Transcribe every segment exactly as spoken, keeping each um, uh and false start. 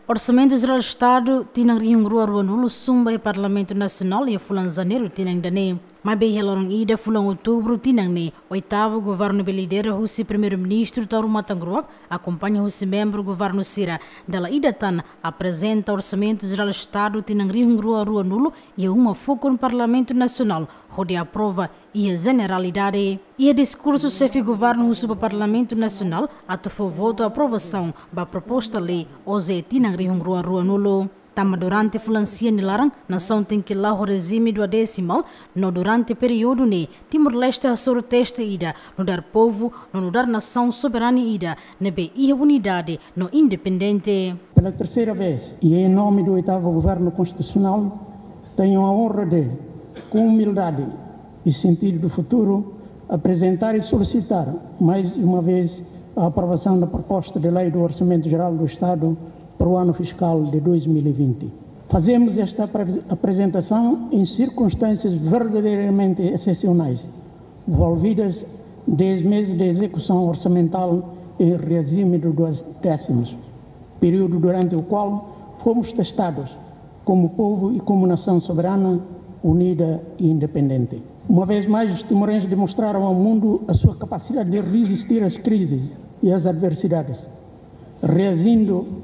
Orsamentu Jerál Estadu tinan rihun rua ruanulu sun ba iha Parlamentu Nasionál iha fulan Janeiru tinan ida-ne'e. Maibé iha loron ida fulan Outubru tinan ne'e, oitavu governu ne'ebé lidera husi Primeiru-Ministru Taur Matan Ruak, akompaña husi membru governu sira, dala ida tan aprezenta Orsamentu Jerál Estadu tinan rihun rua ruanulu iha uma fukun Parlamentu Nasionál, hodi aprova iha jeneralidade. Iha diskursu, xefe governu husu ba Parlamentu Nasionál atu fó votu aprovasaun ba proposta lei OJE tinan rihun rua ruanulu. Tanba durante fulan sia nia laran, nasaun tenke la'o ho rejime duodesimal, no durante períodu ne'e, Timor-Leste hasoru teste ida, nu'udar povu, no nu'udar nasaun soberanu ida, ne'ebé iha unidade no independente. Pela terceira vez, e em nome do oitavo Governo Constitucional, tenho a honra de, com humildade e sentido do futuro, apresentar e solicitar, mais uma vez, a aprovação da proposta de lei do Orçamento Geral do Estado para o ano fiscal de dois mil e vinte. Fazemos esta apre-, apresentação em circunstâncias verdadeiramente excepcionais, envolvidas dez meses de execução orçamental em regime de duodécimos, período durante o qual fomos testados como povo e como nação soberana, unida e independente. Uma vez mais, os timorenses demonstraram ao mundo a sua capacidade de resistir às crises e às adversidades, reagindo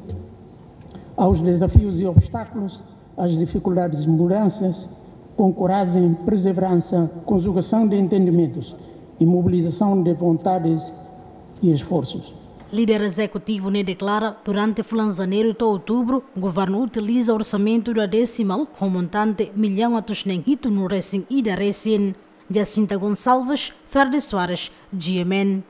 aos desafios e obstáculos, às dificuldades e mudanças, com coragem, perseverança, conjugação de entendimentos e mobilização de vontades e esforços. Líder ezekutivu ne'e deklara, durante fulan Janeiru to'o Outubru, governu utiliza orsamentu duodesimal ho montante millaun atus neen hitunulu resin ida resin. Jacinta Gonçalves, Ferdi Soares, G M N.